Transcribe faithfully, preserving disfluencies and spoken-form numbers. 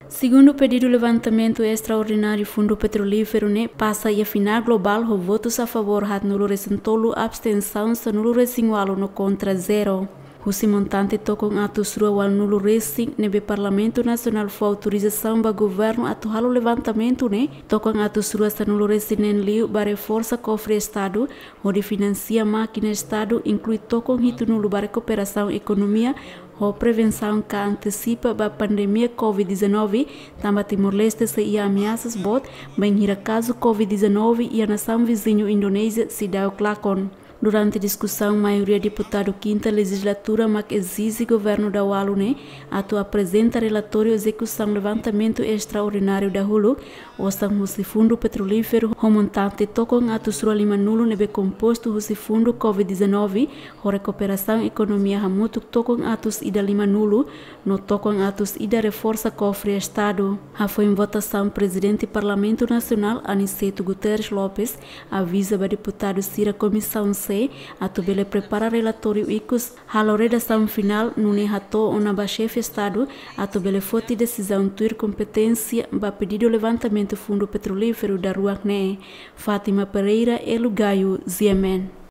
Segundu pedidu levantamentu estraordináriu Fundu Petrolíferu ne'e pasa iha finál globál ho votus a favór haat nulu resin tolu, abstensaun sanulu resin ualu no kontra zero. Husi montante tokon atus rua ualu nulu resin ne'ebé Parlamentu Nasionál fó autorizasaun ba governu atu halo levantamentu ne'e, tokon atus rua sanulu resin neen liu ba reforsa kofre Estadu, hodi finansia mákina Estadu, inklui tokon hitu nulu ba rekuperasaun ekonomia, ho prevensaun ka antesipa ba pandemia covid dezanove, tanba Timor-Leste sei iha ameasas boot, bainhira kazu covid dezanove iha nasaun viziñu Indonézia seidauk lakon. Durante diskusaun, maioria deputadu kinta lejizlatura mak ezije governu daualu ne'e atu aprezenta relatóriu ezekusaun levantamentu estraordináriu dahuluk, osan husi Fundu Petrolíferu ho montante tokon atus rua lima nulu ne'ebé kompostu husi fundu covid dezanove, ho rekuperasaun ekonomia hamutuk tokon atus ida lima nulu, no tokon atus ida reforsa kofre Estadu. Hafoin votasaun, Prezidente Parlamentu Nasionál, Aniceto Guterres Lopes, aviza ba deputadu sira Komisaun C atu bele prepara relatóriu ikus, halo redasaun finál, nune'e hato'o ona ba Xefe Estadu atu bele foti desizaun tuir kompeténsia ba pedidu levantamentu Fundu Petrolíferu daruak ne'e. Fátima Pereira, Elu Gayo, G M N.